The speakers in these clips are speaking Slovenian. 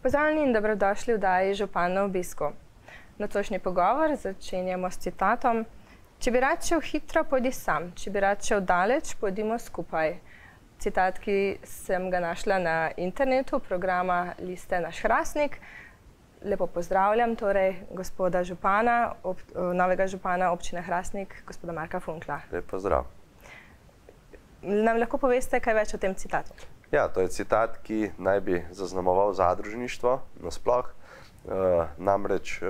Pozdravljeni in dobrodošli v oddaji Župan na obisku. Nocojšnji pogovor začenjamo s citatom: Če bi rad šel hitro, pojdi sam. Če bi rad šel daleč, pojdimo skupaj. Citat, ki sem ga našla na internetu programa Liste Naš Hrastnik. Lepo pozdravljam torej gospoda župana, novega župana občine Hrastnik, gospoda Marka Funkla. Lep pozdrav. Nam lahko poveste kaj več o tem citatu? Ja, to je citat, ki naj bi zaznamoval zadružništvo nasploh. Namreč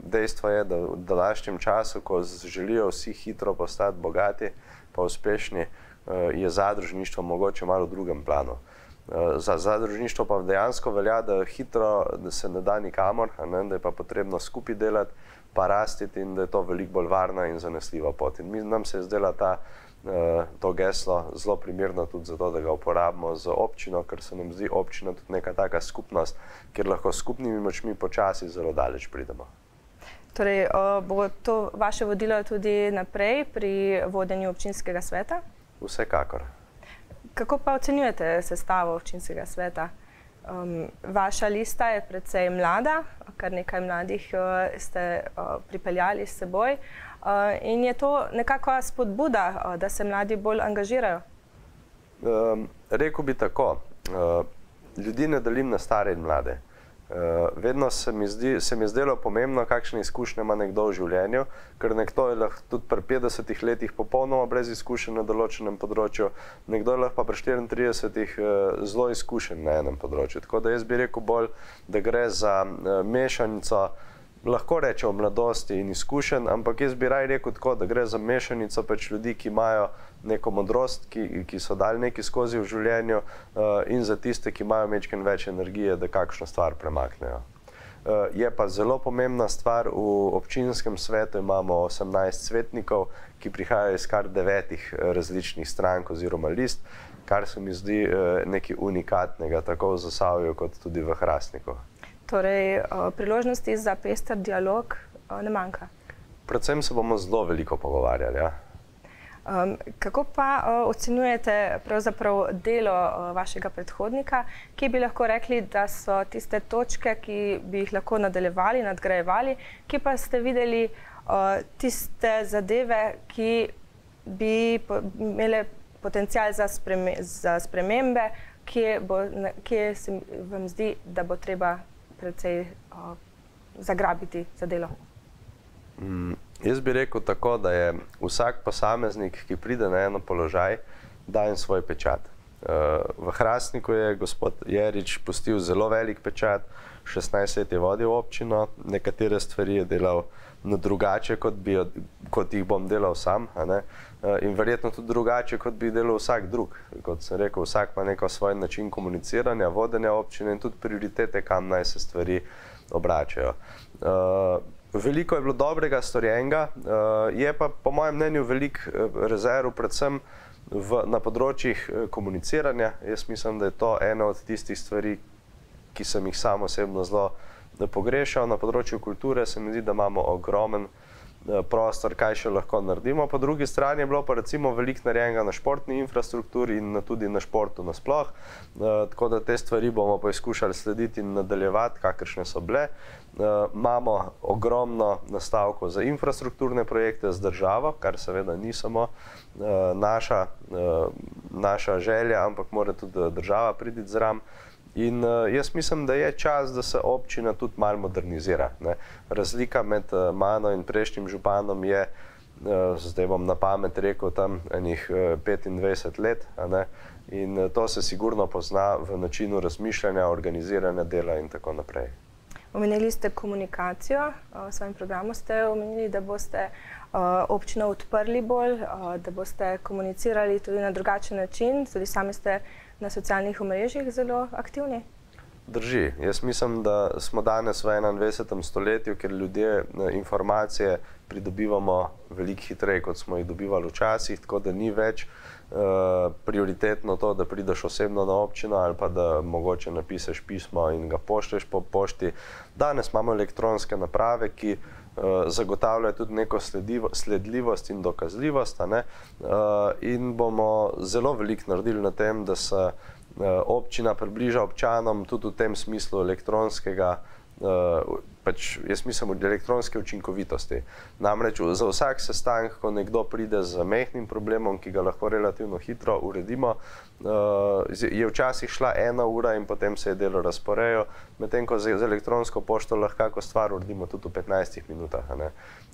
dejstvo je, da v današnjem času, ko želijo vsi hitro postati bogati pa uspešni, je zadružništvo mogoče malo v drugem planu. Za zadružništvo pa dejansko velja, da hitro se ne da nikamor, da je pa potrebno skupaj delati, pa rastiti in da je to veliko bolj varna in zanesljiva pot. In nam se je zdela to geslo zelo primerno tudi zato, da ga uporabimo z občino, ker se nam zdi občina tudi neka taka skupnost, kjer lahko s skupnimi močmi počasi zelo daleč pridemo. Torej, bo to vaše vodilo tudi naprej pri vodenju občinskega sveta? Vsekakor. Kako pa ocenjujete sestavo občinskega sveta? Vaša lista je precej mlada, kar nekaj mladih ste pripeljali s seboj. In je to nekakva spodbuda, da se mladi bolj angažirajo? Rekel bi tako, ljudi ne delim na stare in mlade. Vedno se mi je zdelo pomembno, kakšne izkušnje ima nekdo v življenju, ker nekdo je lahko tudi pri 50 letih popolnoma brez izkušenj na določenem področju, nekdo je lahko pa pri 34 zelo izkušen na enem področju. Tako da jaz bi rekel bolj, da gre za mešanico, lahko rečem mladosti in izkušenj, ampak jaz bi raj rekel tako, da gre za mešanico pač ljudi, ki imajo neko modrost, ki so dali nekaj skozi v življenju, in za tiste, ki imajo majčkeno več energije, da kakšno stvar premaknejo. Je pa zelo pomembna stvar, v občinskem svetu imamo 18 svetnikov, ki prihajajo iz kar 9 različnih strank oziroma list, kar se mi zdi nekaj unikatnega, tako v Zasavju kot tudi v Hrastniku. Torej, priložnosti za pester dialog ne manjka? Predvsem se bomo zelo veliko pogovarjali, ja. Kako pa ocenjujete pravzaprav delo vašega predhodnika? Kje bi lahko rekli, da so tiste točke, ki bi jih lahko nadaljevali, nadgrajevali? Kje pa ste videli tiste zadeve, ki bi imele potencial za spremembe? Kje se vam zdi, da bo treba precej zagrabiti za delo? Jaz bi rekel tako, da je vsak posameznik, ki pride na eno položaj, daje svoj pečat. V Hrastniku je gospod Jerič pustil zelo velik pečat, 16 let je vodil občino, nekatere stvari je delal drugače, kot jih bom delal sam, in verjetno tudi drugače, kot bi delal vsak drug. Kot sem rekel, vsak ima neko svoj način komuniciranja, vodenja občine in tudi prioritete, kam naj se stvari obračajo. Veliko je bilo dobrega storjenega, je pa po mojem mnenju veliko rezerv, predvsem na področjih komuniciranja. Jaz mislim, da je to ena od tistih stvari, ki sem jih sam osebno zelo pogrešal. Na področju kulture se mi zdi, da imamo ogromen prostor, kaj še lahko naredimo. Po drugi strani je bilo pa recimo veliko narejenega na športni infrastrukturi in tudi na športu nasploh. Tako da te stvari bomo poskušali slediti in nadaljevati, kakršne so bile. Imamo ogromno nastavkov za infrastrukturne projekte z državo, kar seveda ni samo naša želja, ampak mora tudi država priti zraven. In jaz mislim, da je čas, da se občina tudi malo modernizira. Razlika med mano in prejšnjim županom je, zdaj bom na pamet rekel, tam enih 25 let, in to se sigurno pozna v načinu razmišljanja, organiziranja dela in tako naprej. Omenili ste komunikacijo, v svojem programu ste omenili, da boste občino odprli bolj, da boste komunicirali tudi na drugačen način, tudi sami ste na socialnih omrežjih zelo aktivni? Drži. Jaz mislim, da smo danes v 21. stoletju, kjer ljudje informacije pridobivamo veliko hitreje, kot smo jih dobivali včasih, tako da ni več prioritetno to, da prideš osebno na občino ali pa da mogoče napišeš pismo in ga pošlješ po pošti. Danes imamo elektronske naprave, ki zagotavljajo tudi neko sledljivost in dokazljivost, in bomo zelo veliko naredili na tem, da se občina približa občanom tudi v tem smislu elektronskega, pač jaz mislim od elektronske učinkovitosti. Namreč za vsak sestanek, ko nekdo pride z majhnim problemom, ki ga lahko relativno hitro uredimo, je včasih šla 1 ura in potem se je delo razporejalo, medtem ko z elektronsko pošto lahko stvar uredimo tudi v 15 minutah.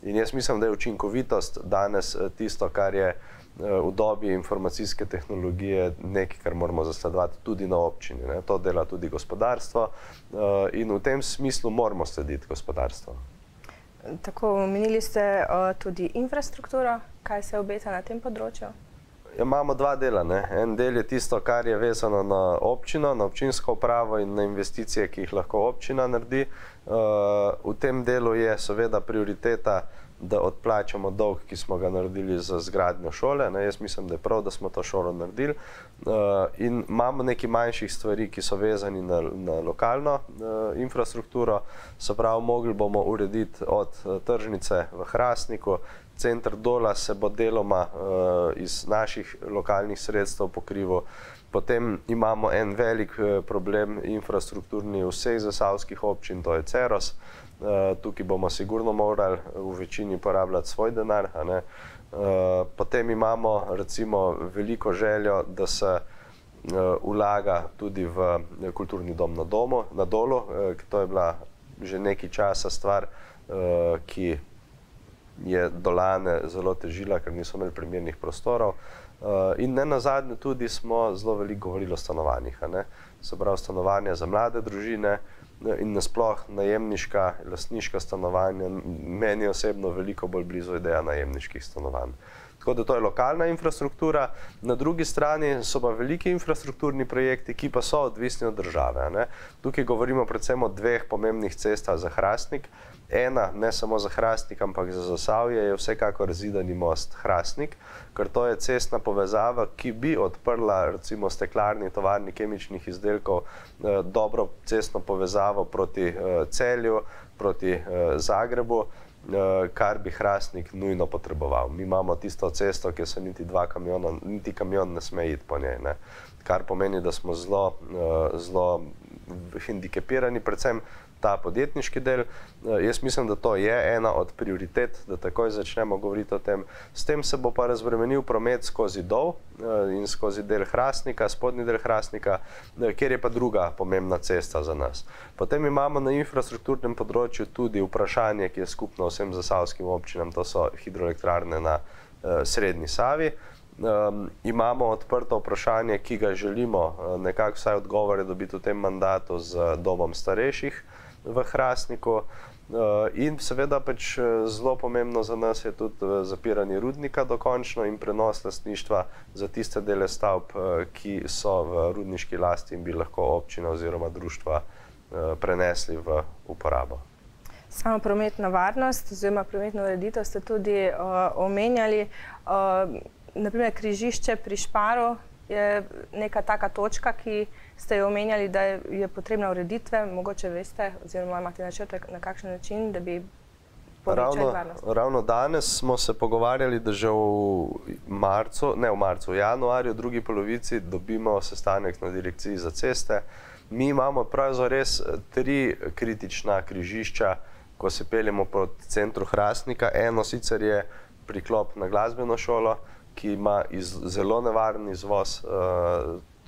In jaz mislim, da je učinkovitost danes tisto, kar je v dobi informacijske tehnologije nekaj, kar moramo zasledovati tudi na občini. To dela tudi gospodarstvo in v tem smislu moramo slediti gospodarstvo. Tako, omenili ste tudi infrastrukturo. Kaj se obeta na tem področju? Imamo 2 dela. En del je tisto, kar je vezano na občino, na občinsko upravo in na investicije, ki jih lahko občina naredi. V tem delu je seveda prioriteta, da odplačamo dolg, ki smo ga naredili za zgradnjo šole. Jaz mislim, da je prav, da smo to šolo naredili. In imamo nekaj manjših stvari, ki so vezani na lokalno infrastrukturo. Se pravi, mogli bomo urediti od tržnice v Hrastniku. Center Dola se bo deloma iz naših lokalnih sredstev pokrival. Potem imamo en velik problem infrastrukturni vseh zasavskih občin, to je Ceros. Tukaj bomo sigurno morali v večini porabljati svoj denar. Potem imamo recimo veliko željo, da se vlaga tudi v kulturni dom na Dolu. To je bila že nekaj časa stvar, ki je Dolane zelo težila, ker niso imeli primernih prostorov. In nenazadnje tudi smo zelo veliko govorili o stanovanjih. Se pravi, stanovanja za mlade družine in nasploh najemniška, lastniška stanovanja. Meni osebno veliko bolj blizu ideja najemniških stanovanj. Tako da to je lokalna infrastruktura. Na drugi strani so pa veliki infrastrukturni projekti, ki pa so odvisni od države. Tukaj govorimo predvsem o 2 pomembnih cestah za Hrastnik. Ena, ne samo za Hrastnik, ampak za Zasavje, je vsekakor Zidani most Hrastnik, ker to je cestna povezava, ki bi odprla recimo steklarni tovarni kemičnih izdelkov dobro cestno povezavo proti Celju, proti Zagrebu, kar bi Hrastnik nujno potreboval. Mi imamo tisto cesto, kjer se niti kamion ne sme iti po njej, kar pomeni, da smo zelo hendikepirani, predvsem ta podjetniški del. Jaz mislim, da to je ena od prioritet, da takoj začnemo govoriti o tem. S tem se bo pa razbremenil promet skozi Dol in skozi del Hrastnika, spodnji del Hrastnika, kjer je pa druga pomembna cesta za nas. Potem imamo na infrastrukturnem področju tudi vprašanje, ki je skupno vsem zasavskim občinam, to so hidroelektrarne na Srednji Savi. Imamo odprto vprašanje, ki ga želimo nekako vsaj odgovore dobiti v tem mandatu z domom starejših v Hrastniku. In seveda pač zelo pomembno za nas je tudi zapiranje rudnika dokončno in prenos lastništva za tiste dele stavb, ki so v rudniški lasti in bi lahko občina oziroma društva prenesli v uporabo. Sama prometna varnost oziroma prometno ureditev ste tudi omenjali. Naprimer, križišče pri Šparu je neka taka točka, ki ste jo omenjali, da je potrebna ureditve. Mogoče veste oziroma imate načrte na kakšen način, da bi povečali varnost? Ravno danes smo se pogovarjali, da že v januarju, drugi polovici dobimo sestanek na direkciji za ceste. Mi imamo pravzaprav res 3 kritična križišča, ko se peljemo proti centru Hrastnika. Eno sicer je priklop na glasbeno šolo, ki ima zelo nevaren izvoz.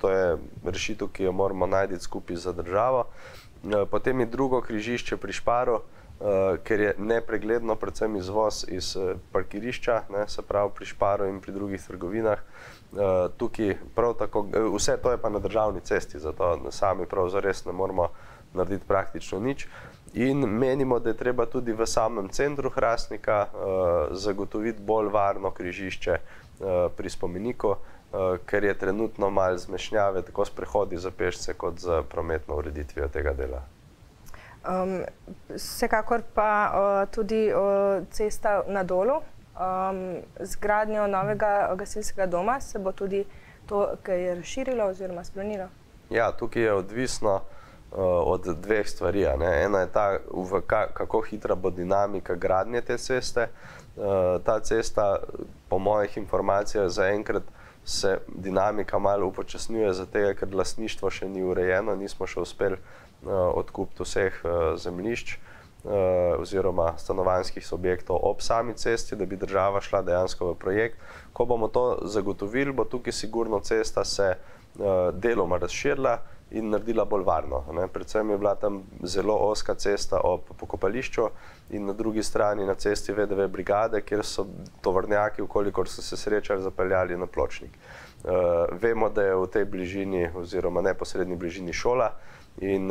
To je rešitev, ki jo moramo najti skupaj za državo. Potem je drugo križišče pri Šparu, ker je nepregledno predvsem izvoz iz parkirišča, se pravi pri Šparu in pri drugih trgovinah. Tukaj prav tako, vse to je pa na državni cesti, zato sami prav zares ne moramo narediti praktično nič. In menimo, da je treba tudi v samem centru Hrastnika zagotoviti bolj varno križišče pri spomeniku, ker je trenutno malo zmešnjave tako s prehodi za pešce kot z prometno ureditvijo tega dela. Vsekakor pa tudi cesta na Dolu. Z gradnjo novega gasilskega doma se bo tudi to kaj razširilo oziroma spremenilo? Ja, tukaj je odvisno od 2 stvari. Ena je ta, kako hitra bo dinamika gradnje te ceste. Ta cesta, po mojih informacijah, zaenkrat se dinamika malo upočasnjuje, zato ker lastništvo še ni urejeno, nismo še uspeli odkupiti vseh zemljišč oziroma stanovanjskih objektov ob sami cesti, da bi država šla dejansko v projekt. Ko bomo to zagotovili, bo tukaj sigurno cesta se deloma razširila in naredila bolj varno. Predvsem je bila tam zelo ozka cesta ob pokopališču in na drugi strani na cesti VDV brigade, kjer so tovornjaki, vkolikor so se srečali, zapeljali na pločnik. Vemo, da je v tej bližini oziroma neposredni bližini šola in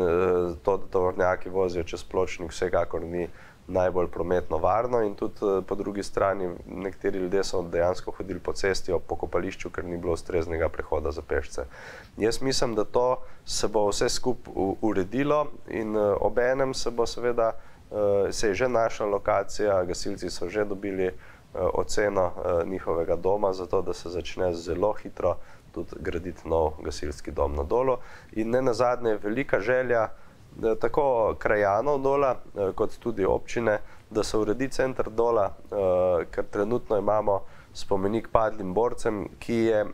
to, da tovornjaki vozijo čez pločnik, vsekakor ni najbolj prometno varno in tudi po drugi strani nekateri ljudje so dejansko hodili po cesti ob pokopališču, ker ni bilo ustreznega prehoda za pešce. Jaz mislim, da to se bo vse skupaj uredilo in obenem se bo seveda, se je že našla lokacija, gasilci so že dobili oceno njihovega doma, zato da se začne zelo hitro tudi graditi nov gasilski dom na Dolu. In ne nazadnje je velika želja tako krajanov Dola, kot tudi občine, da se uredi center Dola, ker trenutno imamo spomenik padlim borcem, ki je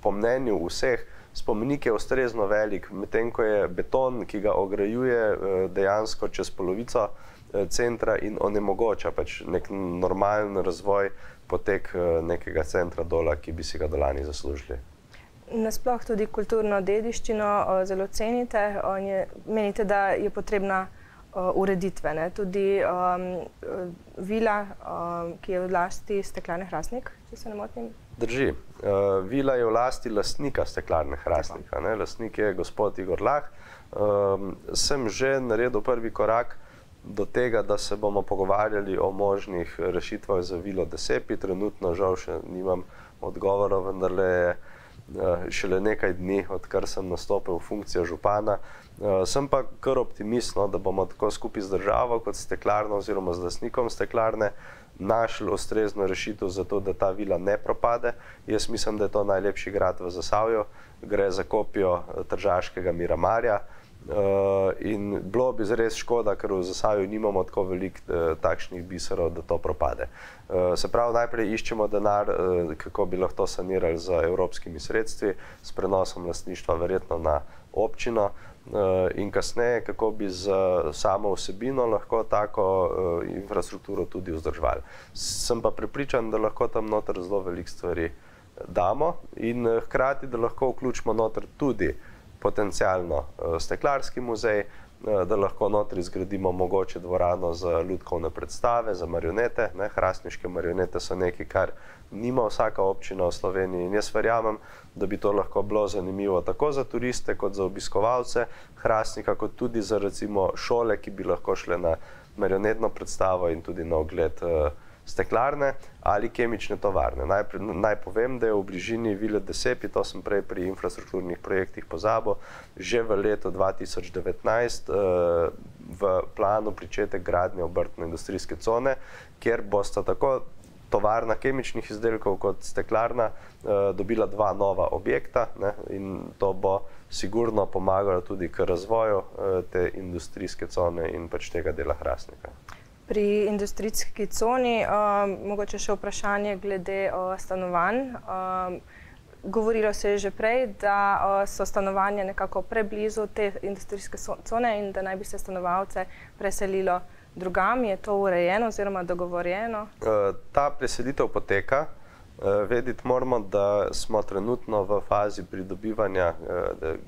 po mnenju vseh, spomenik je ustrezno velik, medtem ko je beton, ki ga ograjuje dejansko čez polovico centra in onemogoča pač nek normalen razvoj, potek nekega centra Dola, ki bi si ga Dolani zaslužili. Nasploh tudi kulturno dediščino zelo cenite. Menite, da je potrebna ureditve. Tudi vila, ki je v lasti Steklarne Hrastnik, če se ne motim? Drži. Vila je v lasti lastnika Steklarne Hrastnik. Lastnik je gospod Igor Lah. Sem že naredil prvi korak do tega, da se bomo pogovarjali o možnih rešitvah za vilo Desepi. Trenutno žal še nimam odgovorov, vendarle je šele nekaj dni, odkar sem nastopil v funkcijo župana. Sem pa kar optimist, da bomo tako skupaj z državo kot steklarno oziroma z lastnikom steklarne našli ustrezno rešitev za to, da ta vila ne propade. Jaz mislim, da je to najlepši grad v Zasavju. Gre za kopijo tržaškega Miramarja in bilo bi res škoda, ker v Zasavju nimamo tako veliko takšnih biserov, da to propade. Se pravi, najprej iščemo denar, kako bi lahko to sanirali z evropskimi sredstvi, s prenosom lastništva verjetno na občino in kasneje, kako bi z samo vsebino lahko tako infrastrukturo tudi vzdrževali. Sem pa prepričan, da lahko tam noter zelo veliko stvari damo in hkrati, da lahko vključimo noter tudi potencialno steklarski muzej, da lahko notri zgradimo mogoče dvorano za lutkovne predstave, za marionete. Hrastniške marionete so nekaj, kar nima vsaka občina v Sloveniji in jaz verjamem, da bi to lahko bilo zanimivo tako za turiste, kot za obiskovalce Hrastnika, kot tudi za recimo šole, ki bi lahko šle na marionetno predstavo in tudi na ogled steklarne ali kemične tovarne. Naj povem, da je v bližini vile Desepi, to sem prej pri infrastrukturnih projektih pozabil, že v letu 2019 v planu pričetek gradnje obrtno-industrijske cone, kjer bosta tako tovarna kemičnih izdelkov kot steklarna dobila dva nova objekta in to bo sigurno pomagalo tudi k razvoju te industrijske cone in pač tega dela Hrastnika. Pri industrijski coni mogoče še vprašanje glede stanovanj. Govorilo se je že prej, da so stanovanja nekako preblizu te industrijske cone in da naj bi se stanovalce preselilo drugam. Je to urejeno oziroma dogovorjeno? Ta preselitev poteka. Vedeti moramo, da smo trenutno v fazi pridobivanja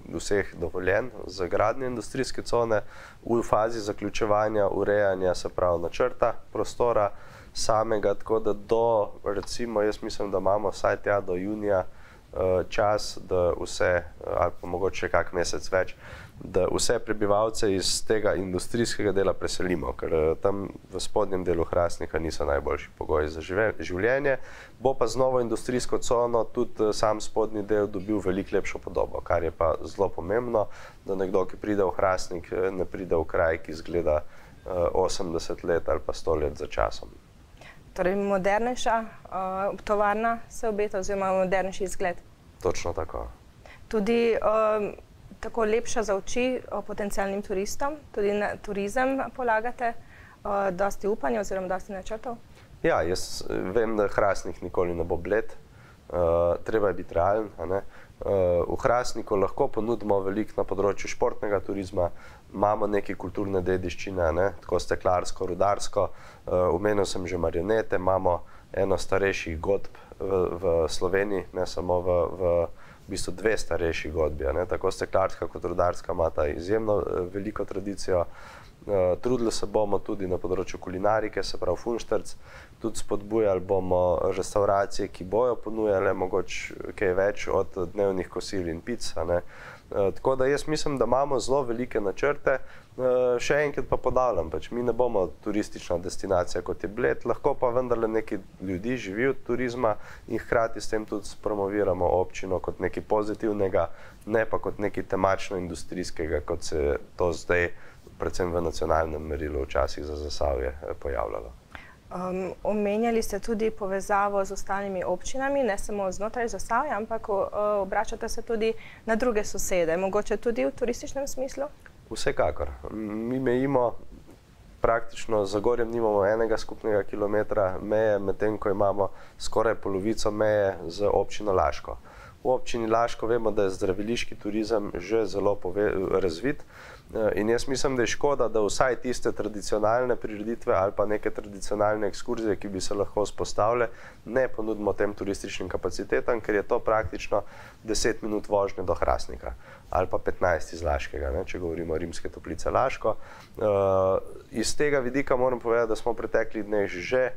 vseh dovoljenj za gradnjo industrijske cone, v fazi zaključevanja, urejanja, se pravi načrta prostora samega, tako da do, recimo, jaz mislim, da imamo vsaj tja do junija čas, da vse, ali pa mogoče kak mesec več, da vse prebivalce iz tega industrijskega dela preselimo, ker tam v spodnjem delu Hrastnika niso najboljši pogoji za življenje. Bo pa z novo industrijsko cono tudi sam spodnji del dobil veliko lepšo podobo, kar je pa zelo pomembno, da nekdo, ki pride v Hrastnik, ne pride v kraj, ki izgleda 80 let ali pa 100 let za časom. Torej modernejša tovarna se obeta oziroma modernejši izgled? Točno tako. Tudi tako lepša za oči potencialnim turistom, tudi na turizem polagate dosti upanja oziroma dosti načrtov? Ja, jaz vem, da Hrastnik nikoli ne bo bled. treba je biti realen. V Hrastniku lahko ponudimo veliko na področju športnega turizma, imamo neke kulturne dediščine, tako steklarsko, rudarsko, omenil sem že marionete, imamo eno starejših godb v Sloveniji, ne samo v bistvu dve starejši godbi, tako steklarska kot rudarska imata izjemno veliko tradicijo. Trudili se bomo tudi na področju kulinarike, se pravi Funštrc, tudi spodbujali bomo restauracije, ki bojo ponujale mogoče kaj več od dnevnih kosil in pic. Tako da jaz mislim, da imamo zelo velike načrte. Še enkrat pa ponavljam, mi ne bomo turistična destinacija kot je Bled, lahko pa vendarle neki ljudi živi od turizma in hkrati s tem tudi promoviramo občino kot nekaj pozitivnega, ne pa kot nekaj temačno-industrijskega, kot se je to zdaj predvsem v nacionalnem merilu včasih za Zasavje pojavljalo. Omenjali ste tudi povezavo z ostalimi občinami, ne samo znotraj Zasavja, ampak obračate se tudi na druge sosede, mogoče tudi v turističnem smislu? Vsekakor. Mi mejimo, praktično z Zagorjem nimamo enega skupnega kilometra meje, medtem ko imamo skoraj polovico meje z občino Laško. V občini Laško vemo, da je zdraviliški turizem že zelo razvit in jaz mislim, da je škoda, da vsaj tiste tradicionalne prireditve ali pa neke tradicionalne ekskurzije, ki bi se lahko vzpostavile, ne ponudimo tem turističnim kapacitetam, ker je to praktično 10 minut vožnje do Hrastnika ali pa 15 iz Laškega, če govorimo o Rimske Toplice Laško. Iz tega vidika moram povedati, da smo v preteklih dneh že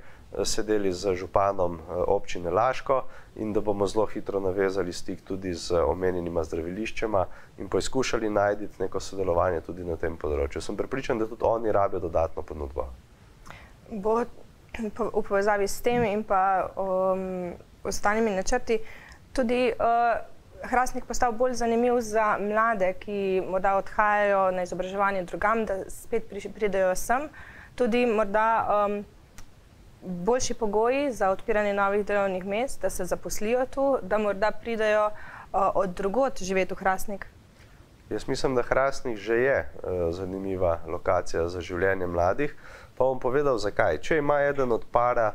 sedeli z županom občine Laško in da bomo zelo hitro navezali stik tudi z omenjenima zdraviliščema in poizkušali najti neko sodelovanje tudi na tem področju. Sem prepričan, da tudi oni rabijo dodatno ponudbo. Bo v povezavi s tem in pa ostalimi načrti tudi Hrastnik postal bolj zanimiv za mlade, ki morda odhajajo na izobraževanje drugam, da spet pridejo sem. Tudi morda boljši pogoji za odpiranje novih delovnih mest, da se zaposlijo tu, da morda pridejo od drugod živeti v Hrastnik? Jaz mislim, da Hrastnik že je zanimiva lokacija za življenje mladih, pa bom povedal zakaj. Če ima eden od para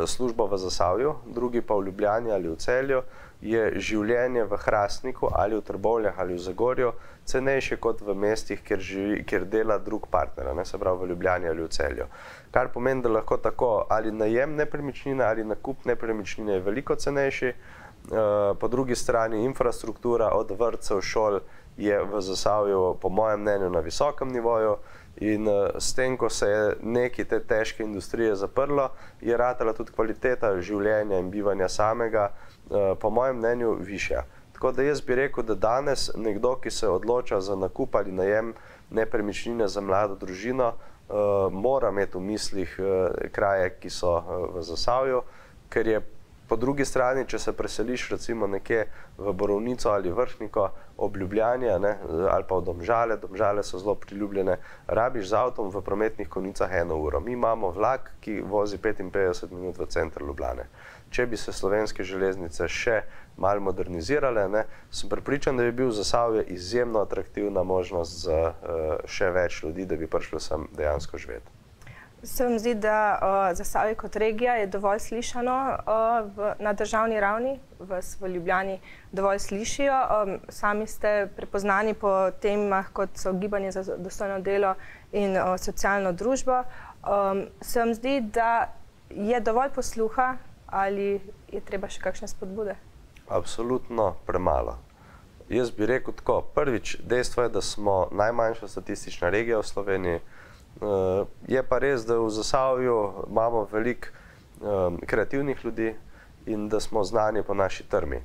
službo v Zasavju, drugi pa v Ljubljani ali v Celju, je življenje v Hrastniku ali v Trbovljah ali v Zagorju cenejše kot v mestih, kjer dela drug partner, se pravi v Ljubljani ali v Celju. Kar pomeni, da lahko tako ali najem nepremičnine ali nakup nepremičnine je veliko cenejši, po drugi strani infrastruktura od vrtcev, šol je v Zasavju po mojem mnenju na visokem nivoju in s tem, ko se je nekaj te težke industrije zaprlo, je ratala tudi kvaliteta življenja in bivanja samega po mojem mnenju višja. Tako da jaz bi rekel, da danes nekdo, ki se odloča za nakup ali najem nepremičnine za mlado družino, mora imeti v mislih kraje, ki so v Zasavju, ker je po drugi strani, če se preseliš recimo nekje v Borovnico ali Vrhniko ob Ljubljani ali pa v Domžale, Domžale so zelo priljubljene, rabiš z avtom v prometnih konicah 1 uro. Mi imamo vlak, ki vozi 55 minut v center Ljubljane. Če bi se slovenske železnice še malo modernizirale, sem prepričan, da bi bil Zasavje izjemno atraktivna možnost za še več ljudi, da bi prišlo sem dejansko živeti. Se vam zdi, da Zasavje kot regija je dovolj slišano na državni ravni, vas v Ljubljani dovolj slišijo? Sami ste prepoznani po temah, kot so gibanje za dostojno delo in socialno družbo. Se vam zdi, da je dovolj posluha ali je treba še kakšne spodbude? Absolutno premalo. Jaz bi rekel tako, prvič, dejstvo je, da smo najmanjša statistična regija v Sloveniji. Je pa res, da v Zasavju imamo veliko kreativnih ljudi in da smo znani po naši trmi.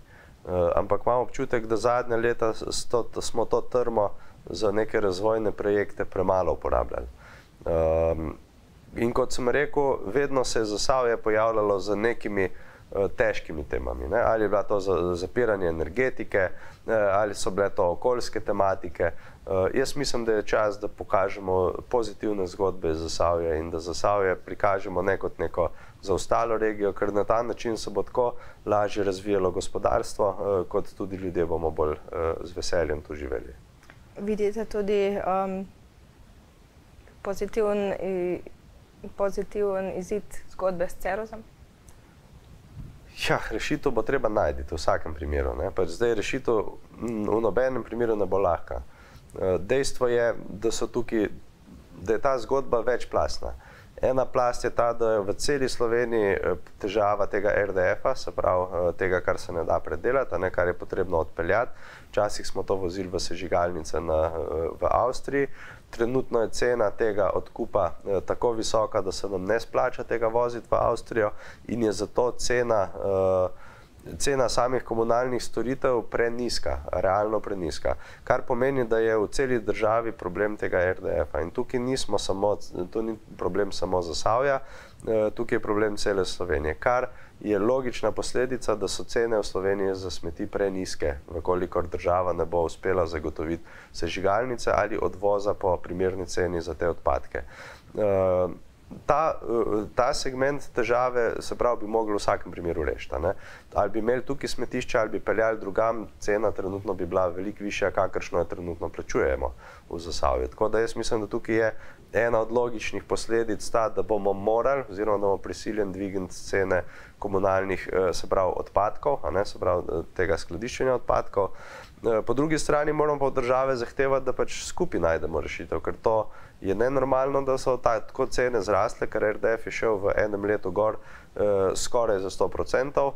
Ampak imamo občutek, da zadnja leta smo to trmo za neke razvojne projekte premalo uporabljali. In kot sem rekel, vedno se je Zasavje pojavljalo z nekimi težkimi temami. Ali je bila to zapiranje energetike, ali so bile to okoljske tematike. Jaz mislim, da je čas, da pokažemo pozitivne zgodbe iz Zasavja in da Zasavje prikažemo ne kot neko zaostalo regijo, ker na ta način se bo tako lažje razvijalo gospodarstvo, kot tudi ljudje bomo bolj z veseljem tu živeli. Vidite tudi pozitiven izid zgodbe s Cerozom? Ja, rešitev bo treba najti v vsakem primeru. Pač zdaj rešitev v nobenem primeru ne bo lahka. Dejstvo je, da je ta zgodba večplastna. Ena plast je ta, da je v celi Sloveniji težava tega RDF-a, se pravi tega, kar se ne da predelati, kar je potrebno odpeljati. Včasih smo to vozili v sežigalnice v Avstriji. Trenutno je cena tega odkupa tako visoka, da se nam ne splača tega voziti v Avstrijo in je zato cena samih komunalnih storitev prenizka, realno prenizka. Kar pomeni, da je v celi državi problem tega RDF-a. In tukaj to ni problem samo Zasavja, tukaj je problem cele Slovenije. Kar je logična posledica, da so cene v Sloveniji za smeti prenizke, vkolikor država ne bo uspela zagotoviti sežigalnice ali odvoza po primerni ceni za te odpadke. Ta segment težave, se pravi, bi mogli v vsakem primeru rešiti. Ali bi imeli tukaj smetišče, ali bi peljali drugam, cena trenutno bi bila veliko višja, kakršno jo trenutno plačujemo v Zasavju. Tako da jaz mislim, da tukaj je ena od logičnih posledic ta, da bomo morali, oziroma da bomo prisiljeni dvigniti cene komunalnih, se pravi, odpadkov, se pravi, tega skladiščenja odpadkov. Po drugi strani moramo pa od države zahtevati, da pač skupaj najdemo rešitev, ker to je nenormalno, da so tako cene zrasle, ker RDF je šel v enem letu gor skoraj za 100%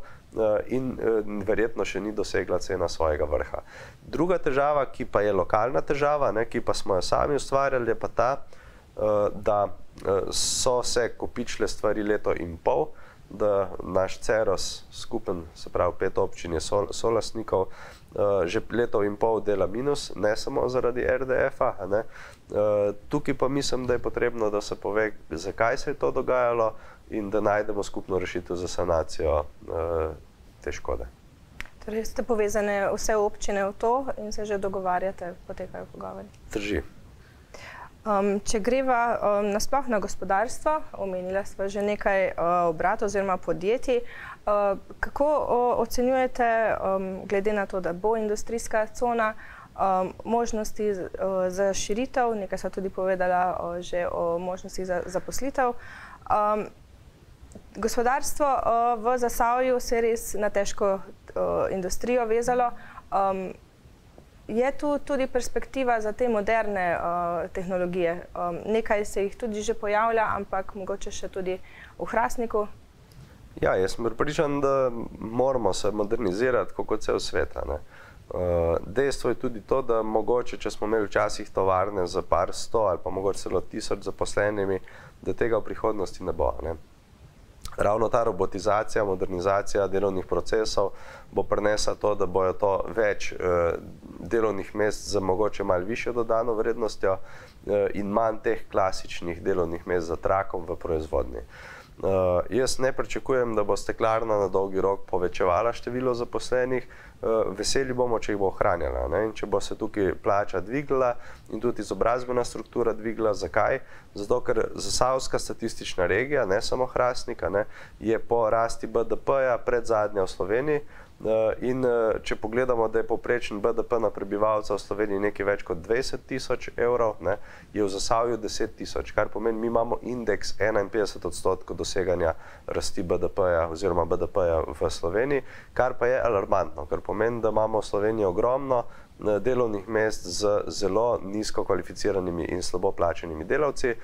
in verjetno še ni dosegla cena svojega vrha. Druga težava, ki pa je lokalna težava, ki pa smo jo sami ustvarjali, je pa ta, da so se kopičile stvari leto in pol, da naš Ceros, skupen, se pravi 5 občin je solastnikov, že leto in pol dela minus, ne samo zaradi RDF-a. Tukaj pa mislim, da je potrebno, da se pove, zakaj se je to dogajalo in da najdemo skupno rešitev za sanacijo te škode. Torej ste povezane vse občine v to in se že dogovarjate, potekajo pogovori? Drži. Če greva nasploh na gospodarstvo, omenila sva že nekaj obratov oziroma podjetij, kako ocenjujete, glede na to, da bo industrijska cona, možnosti za širitev, nekaj sva tudi povedala že o možnostih za zaposlitev. Gospodarstvo v Zasavju se je res na težko industrijo vezalo. Je tu tudi perspektiva za te moderne tehnologije? Nekaj se jih tudi že pojavlja, ampak mogoče še tudi v Hrastniku? Ja, jaz sem pripričan, da moramo se modernizirati, kot cel svet. Dejstvo je tudi to, da mogoče, če smo imeli včasih tovarne za par 100 ali pa mogoče celo 1000 zaposlenimi, da tega v prihodnosti ne bo. Ravno ta robotizacija, modernizacija delovnih procesov bo prinesla to, da bojo to več delovnih mest z mogoče malo višjo dodano vrednostjo in manj teh klasičnih delovnih mest za trakom v proizvodnji. Jaz ne pričakujem, da bo steklarna na dolgi rok povečevala število zaposlenih, veseli bomo, če jih bo ohranjala. In če bo se tukaj plača dvigla in tudi izobrazbena struktura dvigla. Zakaj? Zato, ker Zasavska statistična regija, ne samo Hrastnik, je po rasti BDP-ja predzadnja v Sloveniji. In če pogledamo, da je povprečen BDP na prebivalca v Sloveniji nekaj več kot 20 000 evrov, je v Zasavju 10 000, kar pomeni, mi imamo indeks 51% doseganja rasti BDP-ja oziroma BDP-ja v Sloveniji, kar pa je alarmantno, ker pomeni, da imamo v Sloveniji ogromno delovnih mest z zelo nizko kvalificiranimi in slabo plačenimi delavci.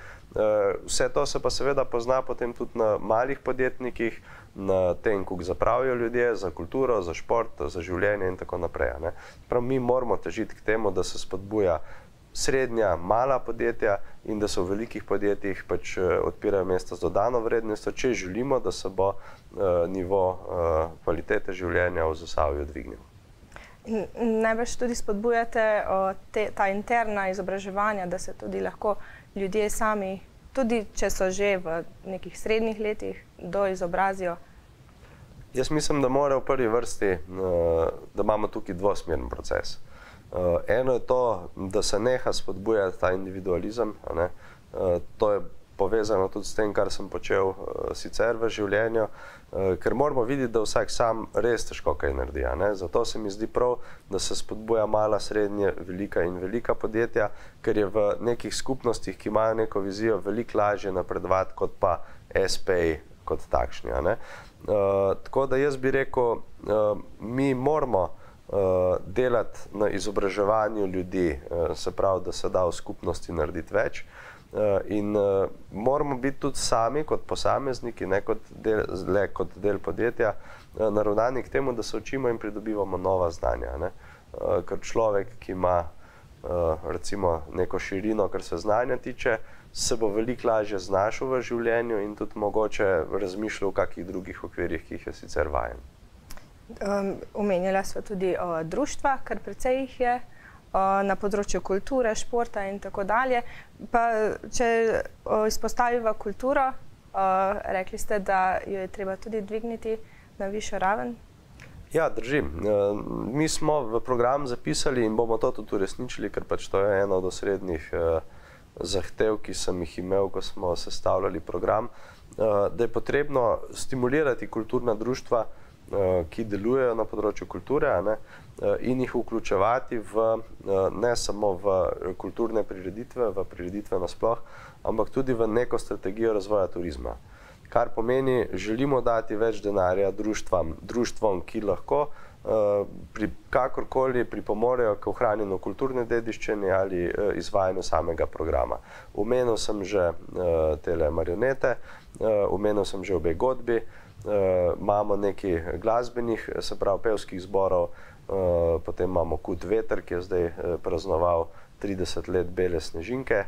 Vse to se pa seveda pozna potem tudi na malih podjetnikih, na tem, kako zapravijo ljudje za kulturo, za šport, za življenje in tako naprej. Prav mi moramo težiti k temu, da se spodbuja srednja, mala podjetja in da se v velikih podjetjih pač odpirajo mesta z dodano vrednostjo, če želimo, da se bo nivo kvalitete življenja v Zasavju dvignil. Najbrž tudi spodbujate ta interna izobraževanja, da se tudi lahko ljudje sami, tudi če so že v nekih srednjih letih, doizobrazijo? Jaz mislim, da mora v prvi vrsti, da imamo tukaj dvosmeren proces. Eno je to, da se neha spodbujati ta individualizem. To je povezano tudi s tem, kar sem počel sicer v življenju, ker moramo videti, da vsak sam res težko kaj naredi. Zato se mi zdi prav, da se spodbuja mala, srednje, velika in velika podjetja, ker je v nekih skupnostih, ki imajo neko vizijo, veliko lažje napredovati kot pa SP kot takšni. Tako da jaz bi rekel, mi moramo delati na izobraževanju ljudi, se pravi, da se da v skupnosti narediti več. In moramo biti tudi sami kot posamezniki, ne kot del podjetja, naravnani k temu, da se učimo in pridobivamo nova znanja. Ker človek, ki ima recimo neko širino, kar se znanja tiče, se bo veliko lažje znašel v življenju in tudi mogoče razmišljal v kakih drugih okvirih, ki jih je sicer vajen. Omenjala sva tudi društva, kar precej jih je, na področju kulture, športa in tako dalje. Pa če izpostaviva kulturo, rekli ste, da jo je treba tudi dvigniti na višjo raven. Ja, drži. Mi smo v program zapisali in bomo to tudi uresničili, ker pač to je ena od osrednjih zahtev, ki sem jih imel, ko smo sestavljali program, da je potrebno stimulirati kulturna društva, ki delujejo na področju kulture, in jih vključevati ne samo v kulturne prireditve, v prireditve nasploh, ampak tudi v neko strategijo razvoja turizma. Kar pomeni, želimo dati več denarja društvom, ki lahko kakorkoli pripomorejo k ohranjanju kulturne dediščine ali izvajanju samega programa. Omenil sem že tele marionete, omenil sem že obe godbi, imamo nekaj glasbenih, se pravi pevskih zborov, potem imamo Kud veter, ki je zdaj praznoval 30 let Bele snežinke,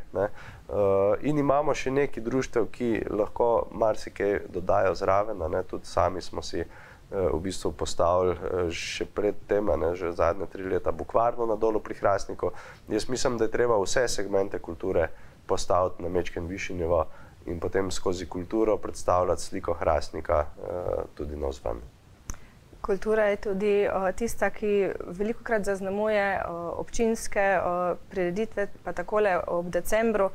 in imamo še nekaj društev, ki lahko marsikaj dodajo zraven, tudi sami smo si v bistvu postavili še pred tem, že zadnje 3 leta bukvarno na Dolu pri Hrastniku. Jaz mislim, da je treba vse segmente kulture postaviti na majčken višji nivo in potem skozi kulturo predstavljati sliko Hrastnika tudi navzven. Kultura je tudi tista, ki velikokrat zaznamuje občinske prireditve, pa takole ob decembru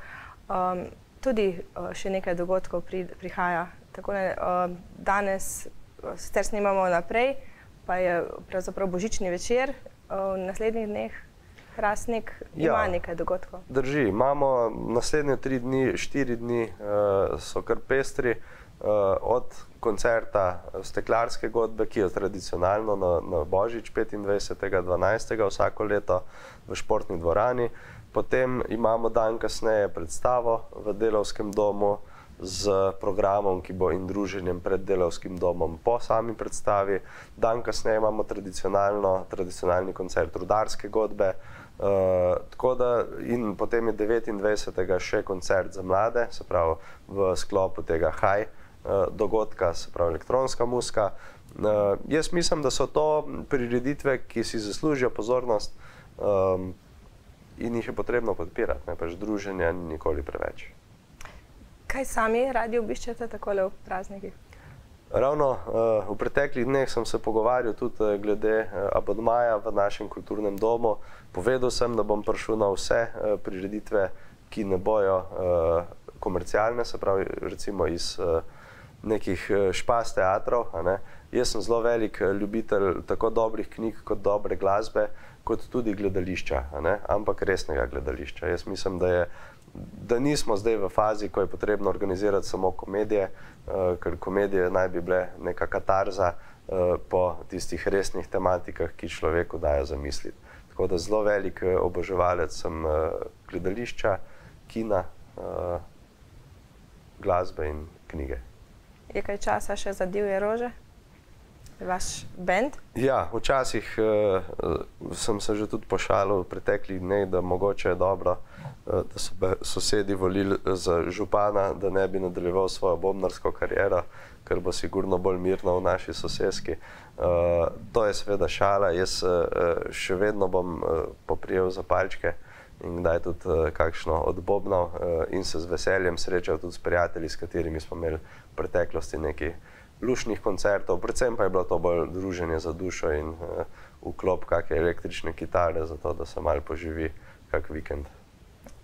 tudi še nekaj dogodkov prihaja. Takole danes sicer snimamo naprej, pa je pravzaprav božični večer, v naslednjih dneh Hrastnik ima nekaj dogodkov. Drži, imamo naslednje 3 dni, 4 dni so kar pestri, od koncerta Steklarske godbe, ki je tradicionalno na Božič 25.12. vsako leto v športni dvorani. Potem imamo dan kasneje predstavo v Delavskem domu z programom, ki bo in druženjem pred Delavskim domom po sami predstavi. Dan kasneje imamo tradicionalni koncert Rudarske godbe. In potem je 29. še koncert za mlade, se pravi v sklopu tega Haj dogodka, se pravi elektronska muzika. Jaz mislim, da so to prireditve, ki si zaslužijo pozornost in jih je potrebno podpirati, pač druženja ni nikoli preveč. Kaj sami radi obiščete takole v praznikih? Ravno v preteklih dneh sem se pogovarjal tudi glede abonmaja v našem kulturnem domu. Povedal sem, da bom prišel na vse prireditve, ki ne bojo komercialne, se pravi recimo iz nekih špas teatrov. Jaz sem zelo velik ljubitelj tako dobrih knjig kot dobre glasbe, kot tudi gledališča, ampak resnega gledališča. Jaz mislim, da nismo zdaj v fazi, ko je potrebno organizirati samo komedije, ker komedije naj bi bile neka katarza po tistih resnih tematikah, ki človeku dajo zamisliti. Tako da zelo velik oboževalec sem gledališča, kina, glasbe in knjige. Je kaj časa še za Divje rože? Vaš bend? Ja, včasih sem se že tudi pošalil v preteklih dneh, da mogoče je dobro, da so sosedi volili za župana, da ne bi nadaljeval svojo bobnarsko kariero, ker bo sigurno bolj mirno v naši soseski. To je seveda šala, jaz še vedno bom poprijel za palčke in kdaj tudi kakšno odbobnal in se z veseljem srečal tudi s prijatelji, s katerimi smo imeli v preteklosti nekaj lušnih koncertov, predvsem pa je bilo to bolj druženje za dušo in vklop kakšne električne kitare, zato da se malo poživi kak vikend.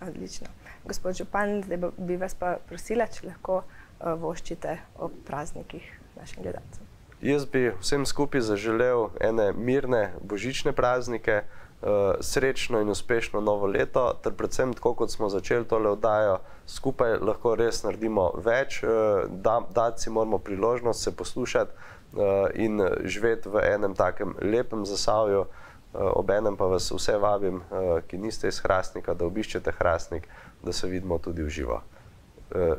Odlično. Gospod župan, zdaj bi vas pa prosila, če lahko voščite ob praznikih našim gledalcem. Jaz bi vsem skupaj zaželel ene mirne božične praznike, srečno in uspešno novo leto, ter predvsem tako, kot smo začeli tole oddajo, skupaj lahko res naredimo več, dati si moramo priložnost se poslušati in živeti v enem takem lepem Zasavju. Obenem pa vas vse vabim, ki niste iz Hrastnika, da obiščete Hrastnik, da se vidimo tudi v živo.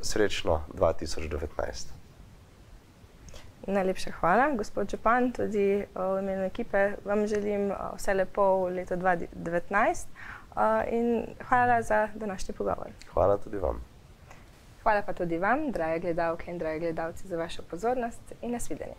Srečno 2019. Najlepša hvala, gospod župan, tudi v imenu ekipe vam želim vse lepo v letu 2019 in hvala za današnji pogovor. Hvala tudi vam. Hvala pa tudi vam, drage gledalke in dragi gledalci, za vašo pozornost in nasvidenje.